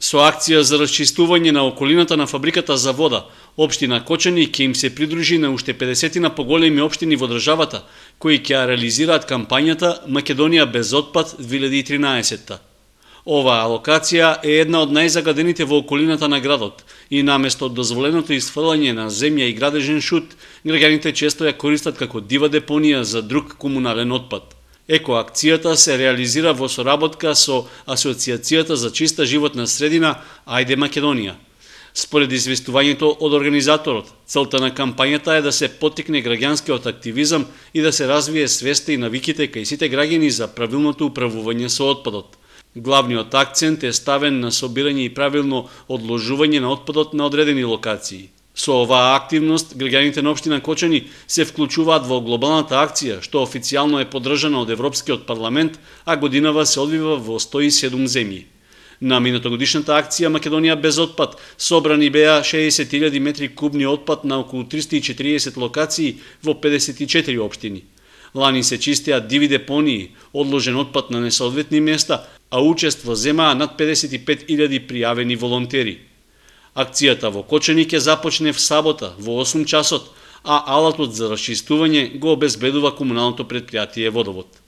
Со акција за расчистување на околината на фабриката за вода, општина Кочани ќе им се придружи на уште 50 поголеми општини во државата, кои ќе реализираат кампањата Македонија без отпад 2013. Оваа локација е една од најзагадените во околината на градот и наместо дозволеното исфрлање на земја и градежен шут, граѓаните често ја користат како дива депонија за друг комунален отпад. Екоакцијата се реализира во соработка со Асоциацијата за чиста животна средина Ајде Македонија. Според известувањето од организаторот, целта на кампањата е да се поттикне граѓанскиот активизам и да се развие свеста и навиките кај сите граѓани за правилното управување со отпадот. Главниот акцент е ставен на собирање и правилно одложување на отпадот на одредени локации. Со оваа активност, граѓаните на општина Кочани се вклучуваат во глобалната акција, што официјално е поддржана од Европскиот парламент, а годинава се одвива во 107 земји. На минатогодишната акција Македонија без отпад собрани беа 60.000 метри кубни отпад на околу 340 локации во 54 општини. Лани се чистеа диви депонии, одложен отпад на несоодветни места, а учество земаа над 55.000 пријавени волонтери. Акцијата во Кочани ќе започне в сабота во 8 часот, а алатот за расчистување го обезбедува комуналното претпријатие Водовод.